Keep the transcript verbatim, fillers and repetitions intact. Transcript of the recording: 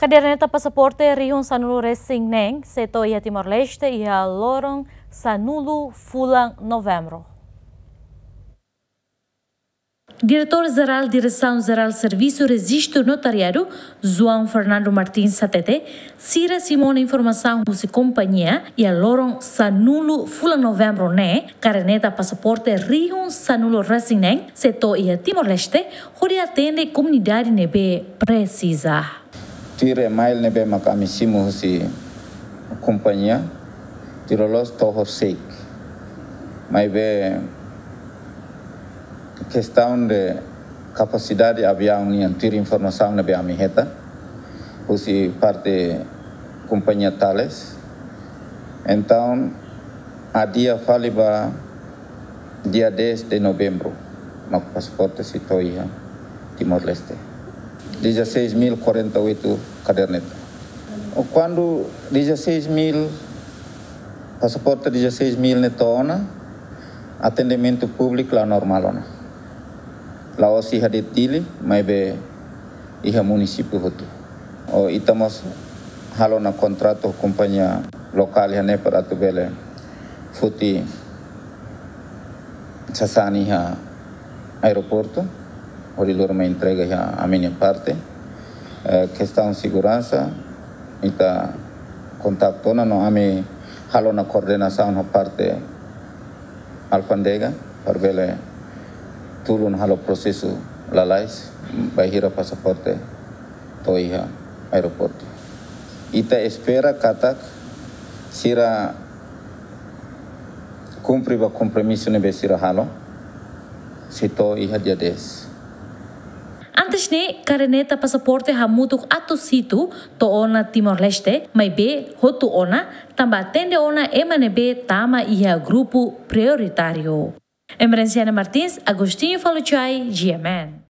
Kaderneta pasaporte rihun sanulu resin neen sei to'o iha Timor-Leste iha loron sanulu fulan Novembru. Diretór Jerál Diresaun Jerál Servisu Rejistu Notariadu, João Fernando Martins hatete, sira simu ona informasaun husi kompañia iha loron sanulu fulan Novembru ne'e, kaderneta pasaporte rihun sanulu resin neen sei to'o iha Timor-Leste, hodi atende komunidade ne'ebé presiza. Tuir email ne'ebé mak ami simu husi kompañia, tuir loloos to'o horisehik. Maibé kestaun de kapasidade aviaun nian, tuir informasaun ne'ebé ami hetan husi parte kompañia Thales. Entaun, adia fali ba dia dez de Novembru, mak pasaporte sei to'o iha Timor-Leste. Dezasseis mil quarenta e oito kaderneta. Kuandu dezasseis mil, pasaporte dezasseis mil ne'e to'o ona, atendimentu públiku la normál ona. La'ós iha de'it Dili, maibé iha munisípiu hotu. Ita mós halo ona kontratu ho kompañia lokál iha ne'e para atu bele foti sasán iha aeroportu, hodi lori mai entrega iha ami-nia parte. Eh, kestaun seguransa, ita kontaktu ona no ami halo ona koordenasaun ho parte alfándega, para bele tulun halo prosesu lalais, bainhira pasaporte to'o iha aeroportu. Ita espera katak sira kumpre ba kompromisu ne'ebé sira halo, sei to'o iha dia dez. Antes ne'e, kaderneta pasaporte hamutuk atus hitu to'o ona Timor-Leste, maibé hotu ona, tanba atende ona ema ne'ebé tama iha grupu prioritáriu. Emerenciana Martins, Agostinho Faluchai, G M N.